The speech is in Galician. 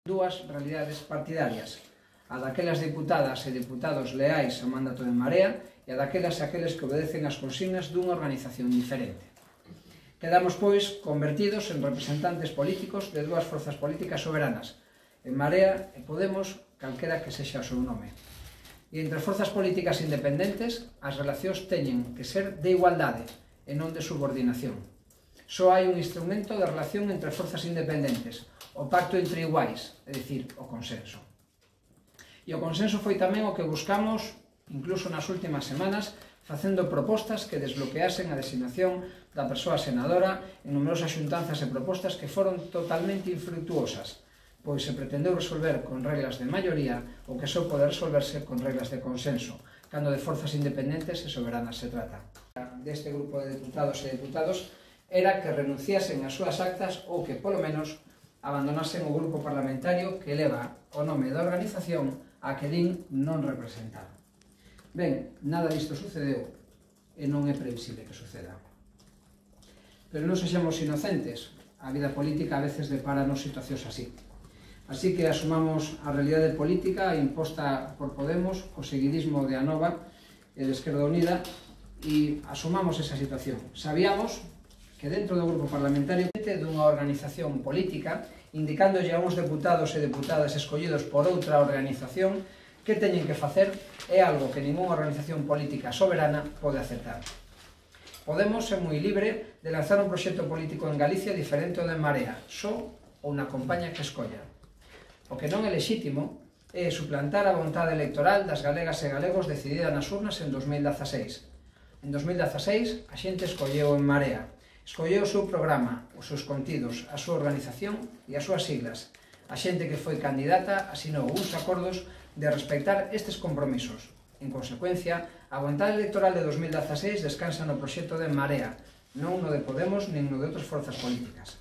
Dúas realidades partidarias, a daquelas deputadas e deputados leais ao mandato de Marea e a daquelas e aqueles que obedecen as consignas dunha organización diferente. Quedamos, pois, convertidos en representantes políticos de dúas forzas políticas soberanas, en Marea e Podemos, calquera que sexa o seu nome. E entre forzas políticas independentes, as relacións teñen que ser de igualdade e non de subordinación. Só hai un instrumento de relación entre forzas independentes, o pacto entre iguais, é dicir, o consenso. E o consenso foi tamén o que buscamos, incluso nas últimas semanas, facendo propostas que desbloqueasen a designación da persoa senadora en numerosas xuntanzas e propostas que foron totalmente infructuosas, pois se pretendeu resolver con reglas de maioría o que só pode resolverse con reglas de consenso, cando de forzas independentes e soberanas se trata. Deste grupo de deputados e deputados era que renunciasen ás súas actas ou que, polo menos, abandonasen o grupo parlamentario que leva o nome da organización a que din non representar. Ben, nada disto sucedeu e non é previsible que suceda. Pero non sexamos inocentes, a vida política a veces deparanos situacións así. Así que asumamos a realidade política imposta por Podemos, co seguidismo de Anova e de Esquerda Unida, e asumamos esa situación. Sabíamos que dentro do grupo parlamentario dunha organización política, indicándolle a uns deputados e deputadas escollidos por outra organización que teñen que facer é algo que ninguna organización política soberana pode aceptar. Podemos ser moi libre de lanzar un proxecto político en Galicia diferente ao de Marea, só ou na compañía que escolla. O que non é lexítimo é suplantar a vontade electoral das galegas e galegos decidida nas urnas en 2016. En 2016 a xente escolleu en Marea, escolleu o seu programa, os seus contidos, a súa organización e as súas siglas. A xente que foi candidata asinou uns acordos de respectar estes compromisos. En consecuencia, a vontade electoral de 2016 descansa no proxecto de Marea, non no de Podemos nin no de outras forzas políticas.